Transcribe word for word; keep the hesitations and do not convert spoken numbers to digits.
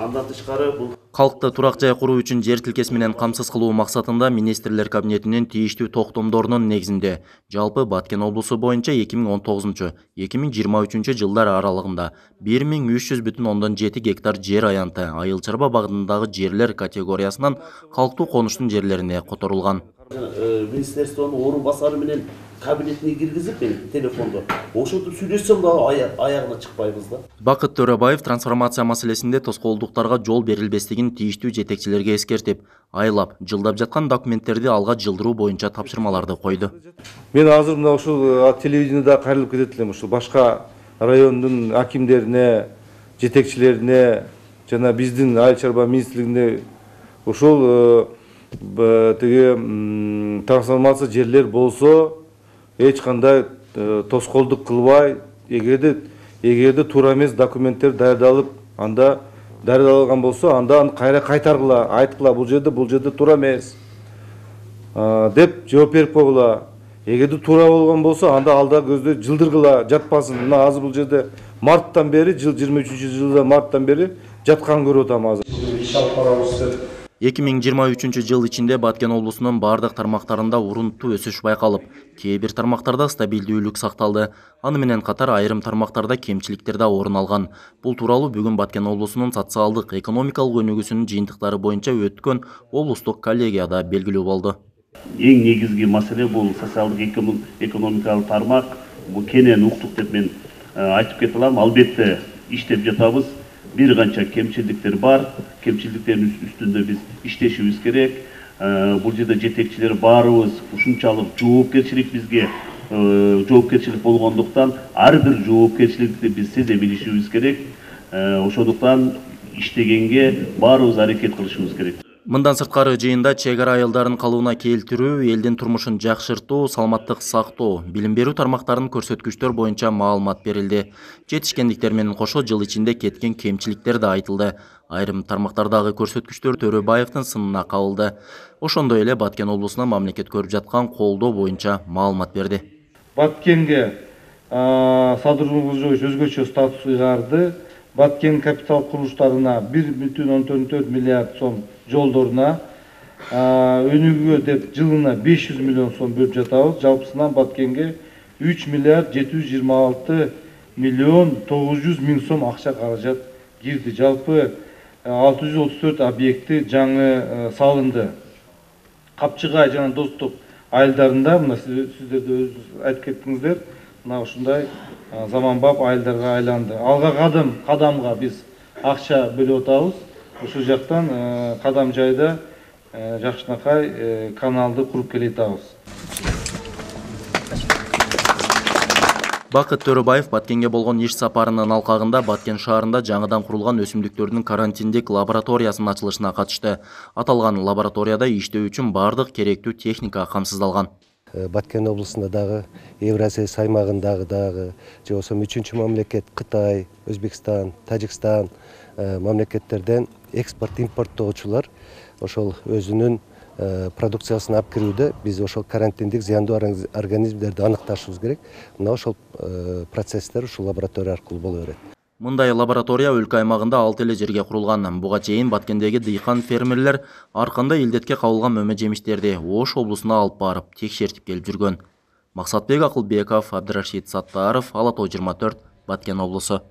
Андан тышкары бул Калкты турак жай куруу үчүн жер тилкеси менен камсыз кылуу максатында министрлер кабинетинин тийиштүү токтомдорунун негизинде жалпы Баткен облусу боюнча эки миң он тогузунчу — эки миң жыйырма үчүнчү жылдар аралыгында бир миң үч жүз бүтүн ондон жети гектар жер аянты айыл чарба багытындагы жерлер категориясынан калктуу конуштун жерлерине которулган. Министерствонун орун басары менен кабинетине киргизип мен телефондо ошентип сүйлөшсөм да аягына чыкпайбыз да. Бакыт Төрөбаев трансформация маселесинде тоскоолдуктарга жол берилбестигин тийиштүү жетекчилерге эскертип, айлап, жылдап жаткан документтерди алга жылдыруу боюнча тапшырмаларды койду. Мен азыр мына ушул телевидениеда кайрылып кетет элем, ушул башка райондун акимдерине, жетекчилерине жана биздин айыл чарба министрлигине ушул тиги трансформация жерлер болсо эч кандай тоскоолдук кылбай, эгерде эгерде туура эмес документтер даярдалып, анда даярдалган болсо, анда аны кайра кайтаргыла, айткыла, бул жерде бул жерде туура эмес деп жооп берип койгула. Эгерде туура болгон болсо, анда алда көздө жылдыргыла, жатпасын. Мына азыр бул жерде марттан бери, жыл жыйырма үчүнчү жылда марттан бери жаткан көрүп атам азыр. эки миң жыйырма үчүнчү жыл ичинде Баткен облусунун бардык тармактарында урунттуу өсүш байкалып, кээ бир тармактарда стабилдүүлүк сакталды. Аны менен катар айрым тармактарда кемчиликтер да орун алган. Бул тууралуу бүгүн Баткен облусунун социалдык, экономикалык өнүгүүсүнүн жыйынтыктары боюнча өткөн облустук коллегияда белгилүү болду. Эң негизги маселе бул социалдык экономикалык тармак. Бул кенен уктук деп мен айтып кете алам. Албетте иштеп жатабыз. Бир канча кемчиликтер бар. Кемчиликтердин үстүндө биз иштешибиз керек. Бул жерде жетекчилер баарыбыз ушунчалык жоопкерчилик бизге жоопкерчилик болгондуктан ар бир жоопкерчиликти биз сезе билишибиз керек. Ошондуктан иштегенге баарыбыз аракет кылышыбыз керек. Мындан сырткары жыйында чек ара айылдарын калыбына келтирүү, элдин турмушун жакшыртуу, саламаттык сактоо, билим берүү тармактарынын көрсөткүчтөр боюнча маалымат берилди. Жетишкендиктер менен кошо жыл ичинде кеткен кемчиликтер да айтылды. Айрым тармактардагы көрсөткүчтөр Төрөбаевдин сынына кабылды. Ошондой эле Баткен облусуна мамлекет көрүп жаткан колдоо боюнча маалымат берди. Баткенге садырбожоевич өзгөчө статус ыйгарды. Баткен капитал курулуштарына бир бүтүн ондон төрт миллиард сом, жолдоруна өнүгүүгө деп жылына беш жүз миллион сом бөлүп жатабыз. Жалпысынан Баткенге үч миллиард жети жүз жыйырма алты миллион тогуз жүз миң сом акча каражат кирди. Жалпы алты жүз отуз төрт объекти жаңы салынды. Капчыгай жана Достук айылдарында, мына сиздер да өзүңүз айтып кеттиңиздер, мына ушундай заманбап айылдарга айланды. Алга кадам кадамга биз акча бөлүп атабыз. Ушул жактан кадам жайда жакшынакай каналды куруп келе атабыз. Бакыт Төрөбаев Баткенге болгон иш сапарынын алкагында Баткен шаарында жаңыдан курулган өсүмдүктөрдүн карантиндик лабораториясынын ачылышына катышты. Аталган лабораторияда иштөө үчүн бардык керектүү техника камсыздалган. Баткен облусунда дагы Евразия аймагындагы дагы же болбосо үчүнчү мамлекет Кытай, Өзбекстан, Тажикстан мамлекеттерден экспорт импорттоочулар ошол өзүнүн продукциясын алып кирүүдө биз ошол карантиндик зыяндуу организмдерди аныкташыбыз керек. Мына ошол процесстер ушул лаборатория аркылуу боло берет. Мындай лаборатория өлкө аймагында алты эле жерге курулган. Буга чейин Баткендеги дыйкан фермерлер ар кандай илдетке кабылган мөмө жемиштерди Ош облусуна алып барып текшертип келип жүргөн. Максатбек Акылбеков, Абдырашид Саттаров, Ала Тоо жыйырма төрт, Баткен облусу.